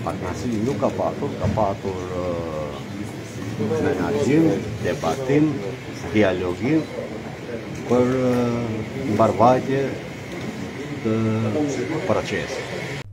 Partnersi nuk ka patur menaxhim, debatim, dialogim për mbarvajtje të procesit.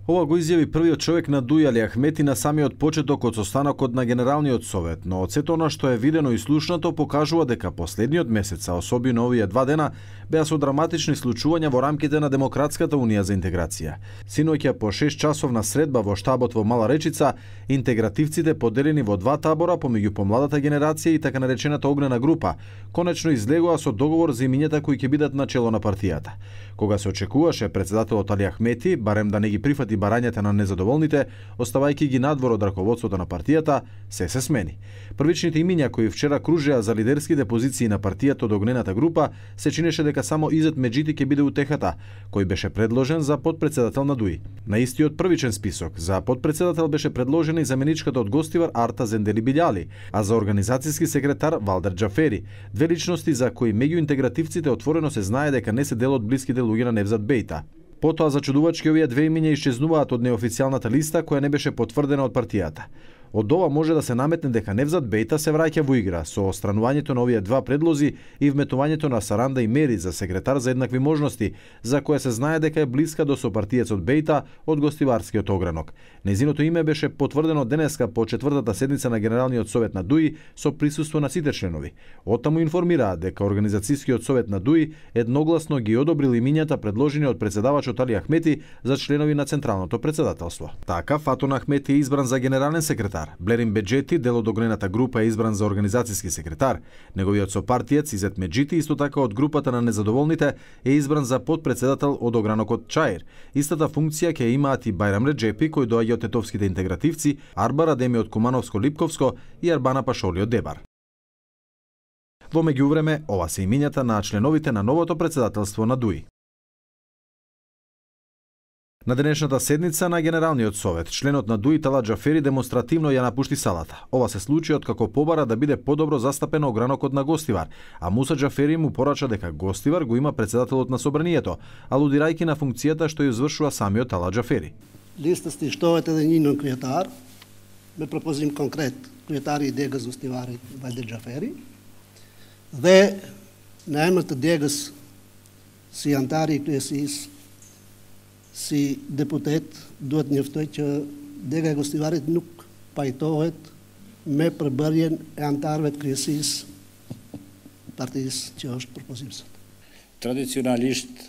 Ова го изјави првиот човек на Дуј Али Ахмети на самиот почеток од состанокот на Генералниот совет, но од сето она што е видено и слушнато покажува дека последниот месец, а особено овие 2 дена, беа со драматични случувања во рамките на Демократската унија за интеграција. Синоќа по 6 часовна средба во штабот во Мала Речица, интегративците поделени во 2 табора помеѓу помладата генерација и така наречената огнена група, конечно излегоа со договор за имињата кои ќе бидат на чело на партијата. Кога се очекуваше председателот Али Ахмети барем да не ги прифати барањата на незадоволните, оставајќи ги надвор од раководството на партијата, се смени. Првичните имиња кои вчера кружеа за лидерските позиции на партијата од огнената група се чинеше дека само Изет Меджити ќе биде утехата, кој беше предложен за подпредседател на ДУИ. На истиот првичен список за подпредседател беше предложена и заменичката од Гостивар Арта Зендели Билјали, а за организацијски секретар Валдер Џафери, две личности за кои меѓу интегративците отворено се знае дека не се дел од блиските луѓе на Невзат Бејта. Потоа зачудувачки овие две имиња исчезнуваат од неофицијалната листа која не беше потврдена од партијата. Од ова може да се наметне дека Невзат Бејта се враќа во игра со остранувањето на овие два предлози и вметувањето на Саранда и Мери за секретар за еднакви можности, за која се знае дека е блиска до сопартиецот Бејта од Гостиварскиот огранок. Нејзиното име беше потврдено денеска по 4-та седница на Генералниот совет на ДУИ со присуство на сите членови. Оттаму информираат дека Организацијскиот совет на ДУИ едногласно ги одобрил имињата предложени од председавачот Али Ахмети за членови на Централното председателство. Така Фатун Ахмети е избран за генерален секретар. Блерин Беџети, дел од огнената група, е избран за организацијски секретар. Неговиот сопартиец Изет Меджити, исто така од групата на незадоволните, е избран за подпредседател од огранокот Чаир. Истата функција ќе имаат и Бајрам Реџепи, кој доаѓа од тетовските интегративци, Арбар Адеми од Кумановско-Липковско и Арбана Пашоли од Дебар. Во меѓувреме, ова се имињата на членовите на новото председателство на ДУИ. На денешната седница на Генералниот совет, членот на ДУИ Талат Џафери демонстративно ја напушти салата. Ова се случи откако побара да биде подобро застапен огранокот на Гостивар, а Муса Џафери му порача дека Гостивар го има председателот на собранието, алудирајќи на функцијата што ја извршува самиот Талат Џафери. Листата штовете да нинон кријатар, ме пропозим конкрет кријатари и дегас Гостивари Валдер Џафери, dhe në emër të degës si antari i kryesisë, si deputet, duhet njoftoj që dega e Gostivarit nuk pajtohet me përbërjen e antarëve të kryesisë partisë që është propozimësat. Tradicionalisht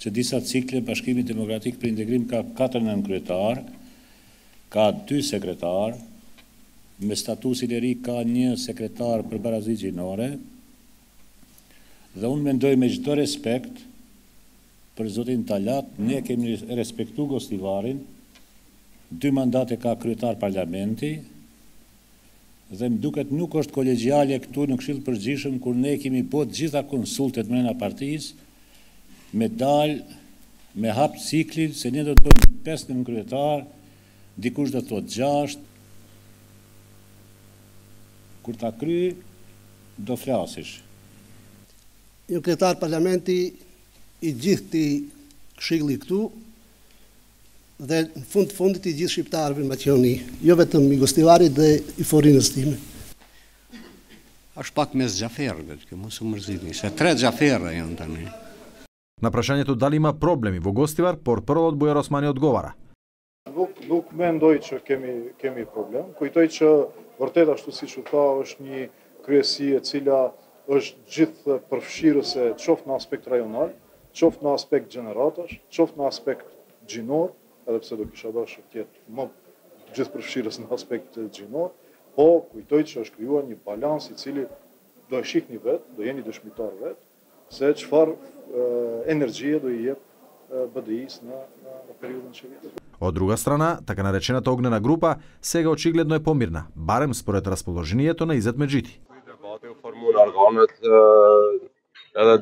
që disa cikle Bashkimi Demokratik për Integrim ka 4 nënkryetar, ka 2 sekretar, me statusin e ri ka 1 sekretar për barazi gjinore, dhe unë mendoj me çdo respekt për zotin Talat, ne kemi respektu Gostivarin, 2 mandate ka kryetar parlamenti, dhe më duket nuk është kolegjiale këtu në Këshill Përgjithshëm kur ne kemi bërë gjitha konsultet mrena partisë, me dal, me hap ciklin, se ne do të bëjmë 5 nënkryetar, dikush do të thotë 6, kur ta kry, do flasish. Një kryetar parlamenti i gjithë ti këshilli këtu dhe në fundit i gjithë shqiptarëve në Maqedoni, jo vetëm i Gostivarit dhe i forinës time. Është pak mes Xhaferëve, që mos u mërzitni, se 3 Xhaferë janë tani. На прашањето дали има проблеми во Гостивар, портпаролот Бујар Османи одговара. Nuk mendoj që kemi problem. Kujtoj që vërtet ashtu siç u tha, është një kryesi e cila është gjithë përfshirëse qoftë në aspekt rajonal, qoftë në aspekt gjeneratash, qoftë në aspekt gjinor, edhe pse do kisha dashur të jetë më gjithë përfshirës në aspekt gjinor, po kujtoj që është krijuar një balans i cili do e shihni vetë, do jeni dëshmitar vetë, se çfarë енергија до и БДИ-с на периоден че вид. Од друга страна, така наречената огнена група сега очигледно е помирна, барем според расположението на Изет Меджити. Debati u formu në organet edhe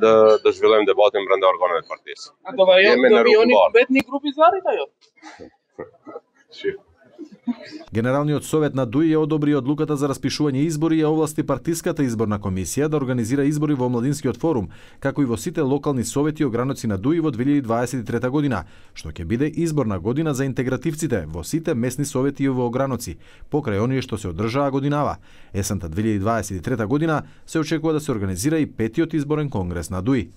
dhe zhvillojmë debatin brenda organeve të partisë. Do vijoni vetë një grup i Zvarit ajo? Генералниот совет на ДУИ ја одобри одлуката за распишување избори и овласти партиската изборна комисија да организира избори во Младинскиот форум, како и во сите локални совети и ограници на ДУИ во 2023 година, што ќе биде изборна година за интегративците во сите месни совети и во ограници, покрај оние што се одржаа годинава. Есента 2023 година се очекува да се организира и 5-тиот изборен конгрес на ДУИ.